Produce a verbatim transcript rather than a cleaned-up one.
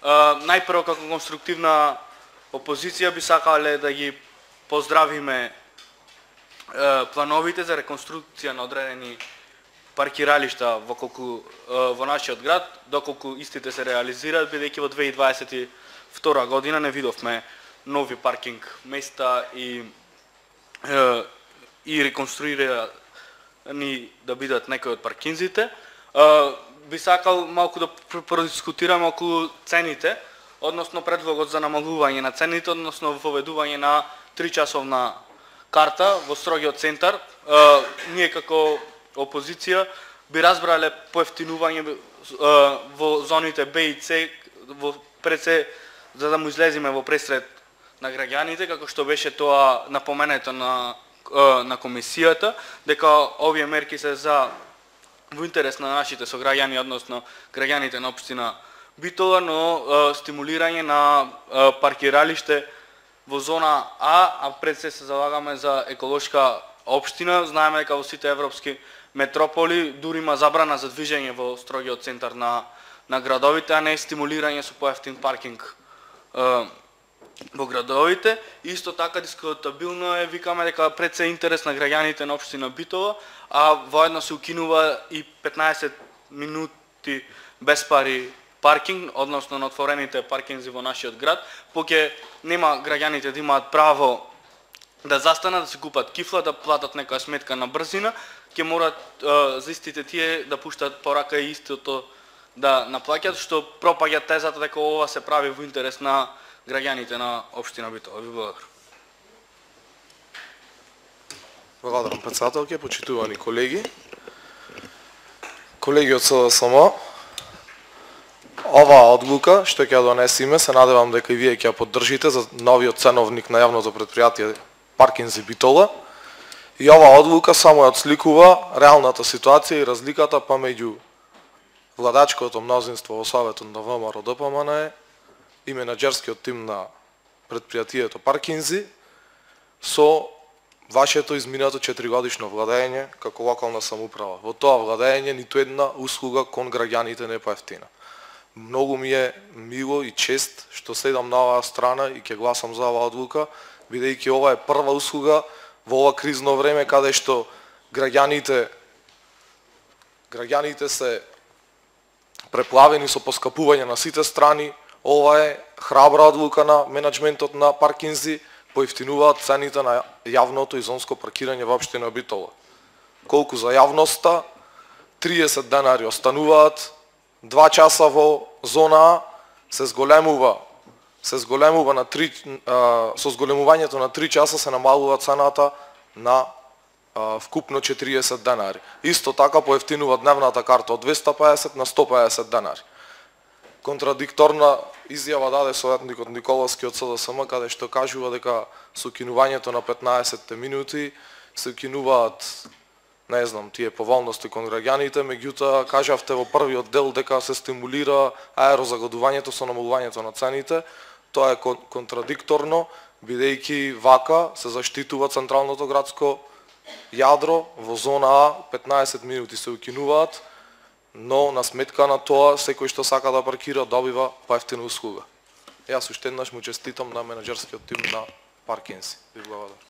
Најпрво како конструктивна опозиција би сакале да ги поздравиме плановите за реконструкција на одредени паркиралишта во колку во нашиот град, доколку истите се реализираат, бидејќи во две илјади дваесет и втора година не видовме нови паркинг места и и реконструирани да бидат некои од паркинзите. Би сакал малку да продискутираме околу цените, односно предлогот за намалување на цените, односно воведување на тричасовна карта во строгиот центар. Ние како опозиција би разбрале поевтинување во зоните Б и С, во пред се за да му излеземе во пресред на граѓаните, како што беше тоа напоменето на на комисијата, дека овие мерки се за во интерес на нашите сограѓани, односно граѓаните на општина Битола, но стимулирање на паркиралиште во зона А, а пред се се залагаме за еколошка општина. Знаеме дека во сите европски метрополи дури има забрана за движење во строгиот центар на на градовите, а не стимулирање со поевтин паркинг во градовите. Исто така дискутабилно е, викаме дека пред се интерес на граѓаните на општина Битола, а воедно се укинува и петнаесет минути без пари паркинг, односно на отворените паркинзи во нашиот град, поќе нема граѓаните да имаат право да застанат, да се купат кифла, да платат некоја сметка на брзина, ќе морат за истите тие да пуштат порака и истото да наплаќат, што пропаѓа тезата дека ова се прави во интерес на граѓаните на општина Битола. Ви благодарам. Благодарам, председателке, почитувани колеги. Колеги од С D S M, оваа одлука што ќе ја донесеме, се надевам дека и вие ќе ја поддржите за новиот ценовник на јавното претпријатие Паркинзи Битола. И оваа одлука само ја отсликува реалната ситуација и разликата памеѓу владачкото мнозинство во Советот на В M R О Д П М Н и менаџерскиот тим на претпријатието Паркинзи со вашето изминато четиригодишно владење како локална самоуправа. Во тоа владење ниту една услуга кон граѓаните не поевтина. Многу ми е мило и чест што седам на оваа страна и ќе гласам за оваа одлука, бидејќи ова е прва услуга во ова кризно време каде што граѓаните граѓаните се преплавени со поскапување на сите страни. Ова е храбра одлука на менаџментот на Паркинзи, поевтинуваат цените на јавното и зонско паркирање во општина Битола. Колку за јавноста, триесет денари остануваат, два часа во зона А, се зголемува, се зголемува на три, а, со зголемувањето на три часа се намалува цената на а, вкупно четириесет денари. Исто така поевтинува дневната карта од двеста педесет на сто педесет денари. Контрадикторна изјава даде советникот Николовски од С D S M, каде што кажува дека со укинувањето на петнаесет минути се укинуваат, не знам, тие поволности кон граѓаните, меѓутоа кажавте во првиот дел дека се стимулира аерозагадувањето со намалувањето на цените. Тоа е контрадикторно, бидејќи вака се заштитува централното градско јадро, во зона А петнаесет минути се укинуваат, но на сметка на тоа секој што сака да паркира добива поевтина услуга. Јас уште еднаш му честитам на менаџерскиот тим на Паркинзи. Ви благодарам.